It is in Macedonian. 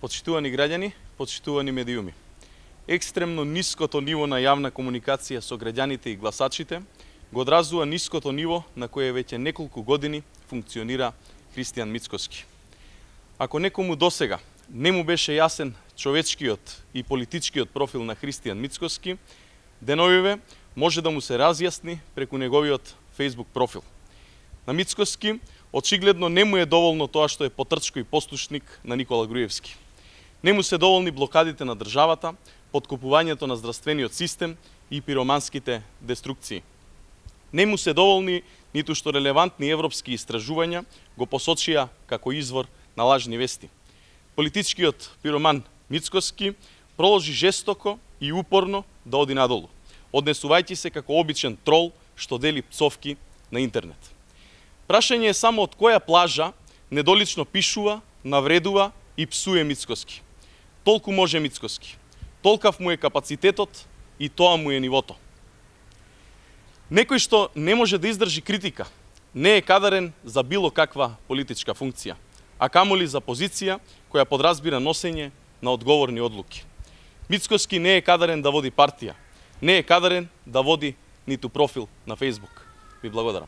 Почитувани граѓани, почитувани медиуми. Екстремно ниското ниво на јавна комуникација со граѓаните и гласачите го одразува ниското ниво на кое веќе неколку години функционира Христијан Мицкоски. Ако некому досега не му беше јасен човечкиот и политичкиот профил на Христијан Мицкоски, деновиве може да му се разјасни преку неговиот Facebook профил. На Мицкоски очигледно не му е доволно тоа што е потрчко и послушник на Никола Груевски. Не му се доволни блокадите на државата, подкупувањето на здравствениот систем и пироманските деструкции. Не му се доволни ниту што релевантни европски истражувања го посочија како извор на лажни вести. Политичкиот пироман Мицкоски проложи жестоко и упорно да оди надолу, однесувајќи се како обичен трол што дели пцовки на интернет. Прашање е само од која плажа недолично пишува, навредува и псуе Мицкоски. Толку може Мицкоски, толкав му е капацитетот и тоа му е нивото. Некој што не може да издржи критика, не е кадарен за било каква политичка функција, а камоли за позиција која подразбира носење на одговорни одлуки. Мицкоски не е кадарен да води партија, не е кадарен да води ниту профил на Facebook. Ви благодарам.